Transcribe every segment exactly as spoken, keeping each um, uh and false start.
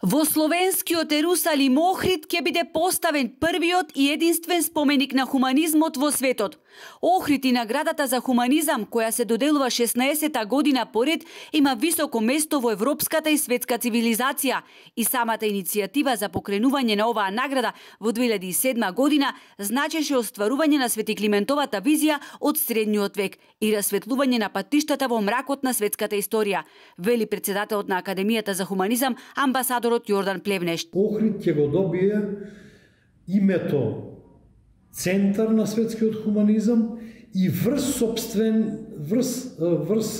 Во словенскиот Ерусалим Охрид ќе биде поставен првиот и единствен споменик на хуманизмот во светот. Охрид и наградата за хуманизам, која се доделува шеснаесета година поред, има високо место во европската и светска цивилизација и самата иницијатива за покренување на оваа награда во две илјади и седма година значеше остварување на Свети Климентовата визија од средниот век и расветлување на патиштата во мракот на светската историја, вели председателот на Академијата за хуманизам, амбасадор Јордан Плевнешт. Охрид ќе го добие името центар на светскиот хуманизам и врз собствен врз врз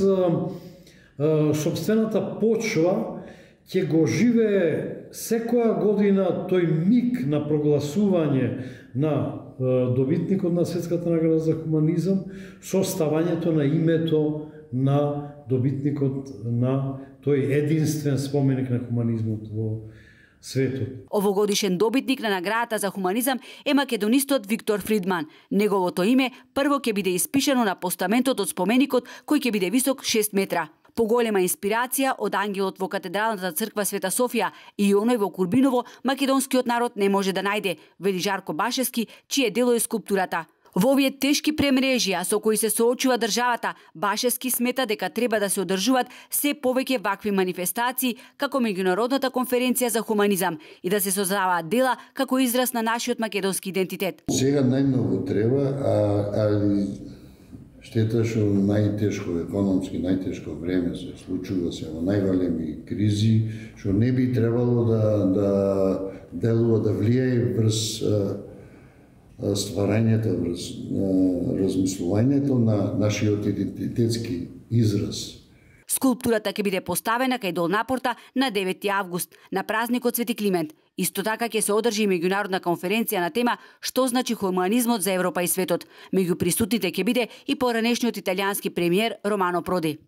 собствената почва ќе го живее секоја година тој миг на прогласување на добитникот на светската награда за хуманизам со ставањето на името на добитникот на тој единствен споменик на хуманизмот во светот. Овогодишен добитник на наградата за хуманизам е македонистот Виктор Фридман. Неговото име прво ќе биде испишано на постаментот од споменикот, кој ќе биде висок шест метра. Поголема инспирација од ангелот во катедралната црква Света Софија и оној во Курбиново македонскиот народ не може да најде, вели Жарко Башевски, чие дело е скулптурата. Во овие тешки премрежија со кои се соочува државата, Башевски смета дека треба да се одржуваат се повеќе вакви манифестации како меѓународната конференција за хуманизам и да се создаваат дела како израз на нашиот македонски идентитет. Сега најмногу треба, а, а штета што најтешко економски, најтешко време се случува се во најголеми кризи, што не би требало да да делува да влијае врз стварањето, врз размислувањето на нашиот идентитетски израз. Скулптурата ќе биде поставена кај Долнапорта на девети август, на празникот Свети Климент. Исто така ќе се одржи и меѓународна конференција на тема што значи хуманизмот за Европа и светот. Меѓу присутните ќе биде и поранешниот италијански премиер Романо Проди.